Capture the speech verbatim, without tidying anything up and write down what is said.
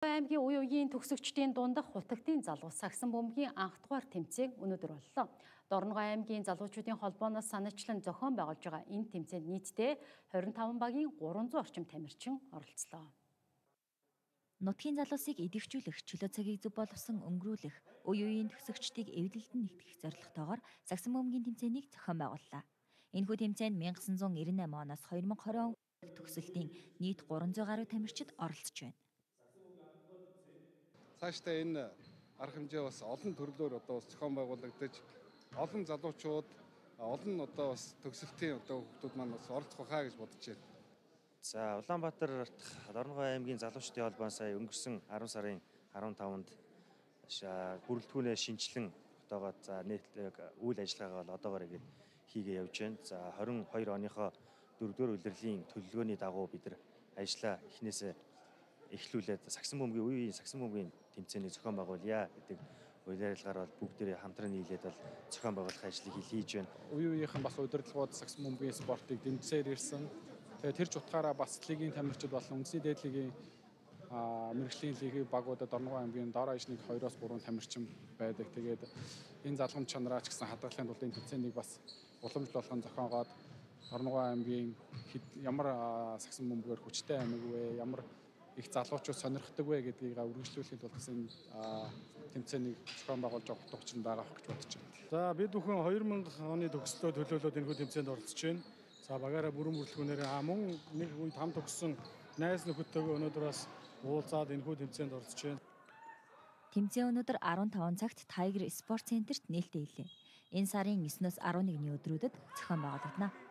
аймгийн үе үеийн төгсөгчдийн дундах хутагтын залуу сагсан бөмбөгийн анх дугаар тэмцээн өнөөдөр боллоо. Дорногой аймгийн залуучуудын холбооноос санаачлан зохион байгуулж байгаа энэ тэмцээнд нийтдээ хорин таван багийн гурван зуун орчим тамирчин оролцлоо. Нутгийн залуусыг идэвхжүүлэх, чөлөө цагийг зөв боловсон өнгөрүүлэх, үе үеийн төгсөгчдийг эвдэлдэн нэгтгэх зорилготойгоор сагсан бөмбөгийн тэмцээнийг зохион байгууллаа. Энэхүү тэмцээнд мянга санаа зуун ирнэ оноос хоёр мянга хорин он төгсөлтийн нийт гурван зуун гаруй тамирчид оролцож байна. Цаашдаа энэ арга хэмжээ бас олон төрлөөр одоо бас зохион байгуулагдаж олон залуучууд олон одоо бас төгсөлтийн одоо хүмүүс маань бас оролцох хаа гэж бодож байна. За Улаанбаатар Дорногой аймгийн залуучдын холбоо сая өнгөрсөн арван сарын арван таванд бүрэлдэхүүнээ шинжилэн отоогоод за нийтлэг үйл ажиллагаагаа бол одоогоор ингэ хийгээ явж байна. За хорин хоёр оныхоо дөрөвдүгээр улирлын төлөвлөгөөний дагуу бид нар ажиллаа эхнээсээ эхлүүлээд сагсан бөмбөгийн үе үеийн сагсан бөмбөгийн тэмцээнийг зохион байгуулъя гэдэг үйл ажиллагаагаар бол бүгдээрээ хамтран нийлээд бол зохион байгуулах ажлыг хийж байна. Үе үеийнхэн бас удирдлагууд сагсан бөмбөгийн спортыг дэмжсээр ирсэн. Тэгээд тэр ч утгаараа бас лигийн тамирчид болон үндэсний дээд лигийн мэрэгжлийн лигийн багуудад Дорногой аймгийн дор хаяжныг хоёроос гурван тамирчин байдаг. Тэгээд энэ залгамж чанараа ч гэсэн хадгалахын тулд энэ тэмцээнийг бас уламжлуулахын зохиогоод Дорногой аймгийн ямар сагсан бөмбөгээр хүчтэй аймаг вэ? Ямар их залуучууд сонирхдаг вэ гэдгийг үргэлжлүүлэхэд бол гэсэн тэмцээнийг зохион байгуулж байгаа утга учир нь байгаа гэж бодож байна. За бид бүхэн хоёр мянга оны төгслөө төлөөлөөд энэхүү тэмцээнд оролцож байна. За багаараа бүрэн бүрэлдэхүүнээр мөн нэг үед хам төгссөн найз нөхөдтэйгээ өнөөдөр бас уулзаад энэхүү тэмцээнд оролцож байна. Тэмцээн өнөөдөр арван таван цагт Tiger Sport Center-т нээлттэй илээ. Энэ сарын еснөөс арван нэгний өдрүүдэд зохион байгуулагдана.